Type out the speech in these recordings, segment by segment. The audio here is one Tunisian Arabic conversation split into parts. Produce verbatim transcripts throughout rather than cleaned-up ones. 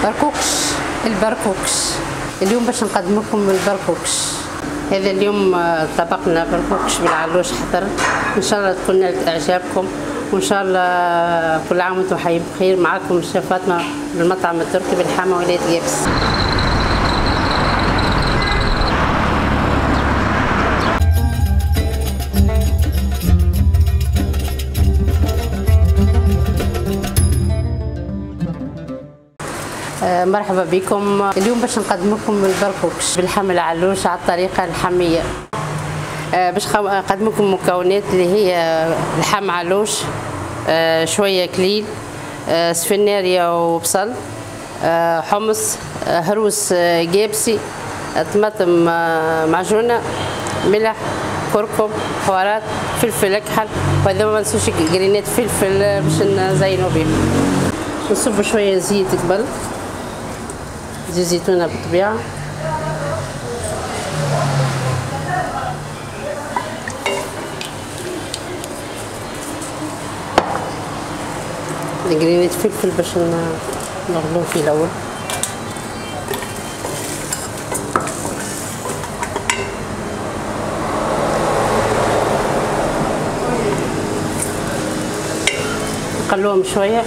بركوكش. البركوكش اليوم باش نقدم لكم البركوكش. هذا اليوم طبقنا بركوكش بالعلوش حضر، ان شاء الله تكون نالت اعجابكم، وان شاء الله كل عام وانتم حيين بخير. معاكم الشيف فاطمة بالمطعم التركي بالحامه ولاية قابس. مرحبا بكم. اليوم باش نقدم لكم البركوكش باللحم العلوش على الطريقة الحمية. باش نقدم لكم مكونات اللي هي لحم علوش، شوية كليل، سفناريا وبصل، حمص، هروس جابسي، طماطم معجونه، ملح، كركم، بهارات، فلفل اكحل، وهذا ما ننسوش قرينات فلفل باش نزينو به. نصب شوية زيت قبل، زيت زيتونه بالطبيعة. قرينات فلفل باش نغلوه في الاول. نقلوهم شوية.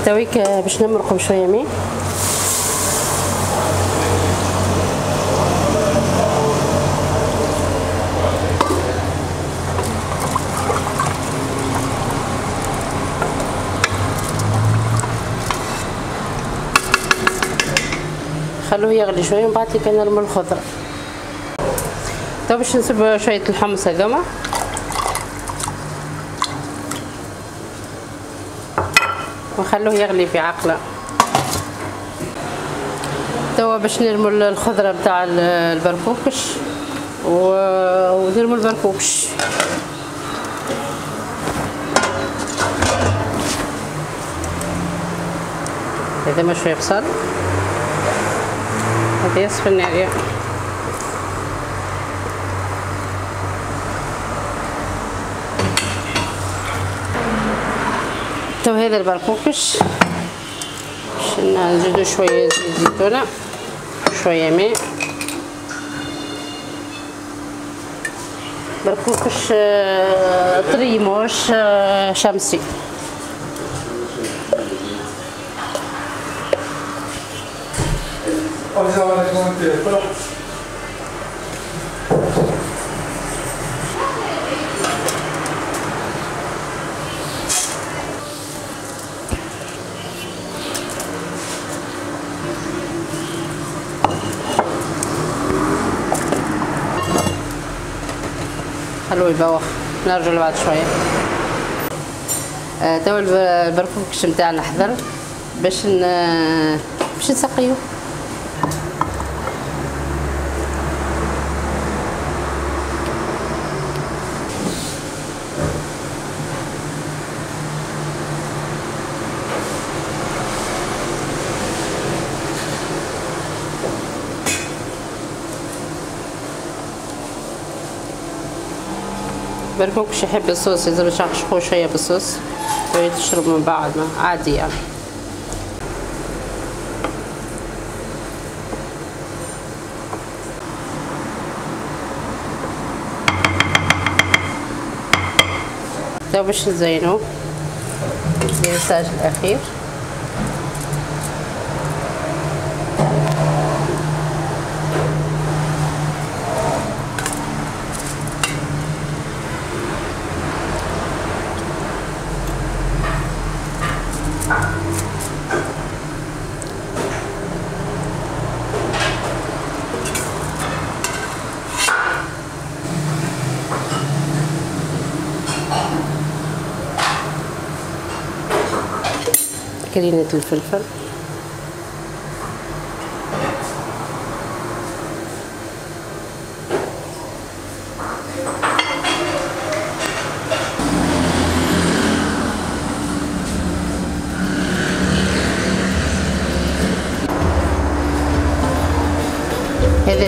تويك باش نمرقهم شوية ماء. خلوه يغلي شوية ومن بعد كنرموا الخضرة. تو باش نصب شوية الحمص هذوما. ونخلوه يغلي في عقله. توا باش نرموا الخضرة نتاع البركوكش ونرموا البركوكش. هذا ما شوية بصل، هذه سفناريا. تو هذا البركوكش باش نزيدو شوية زيت زيتونه، شوية ماء. بركوكش طري موش شمسي. خلوه يبوخ، نرجع بعد شوية. آه توا البركوكش نتاعنا حضر باش ن... باش نسقيوه. بركوكش يحب الصوص، لازم نشخشخوه شوية بالصوص وتشرب من بعد، ما عادي يعني. تو باش نزينو الدريساج الاخير. كرينة الفلفل،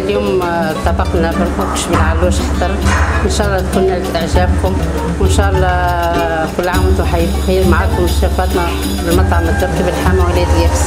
اليوم طبقنا بركوكش بالعلوش حضر، ان شاء الله تكون نالت اعجابكم، وان شاء الله كل عام وانتم حي بخير. معكم الشيف فاطمة بالمطعم التركي بالحامه ولاد يابس.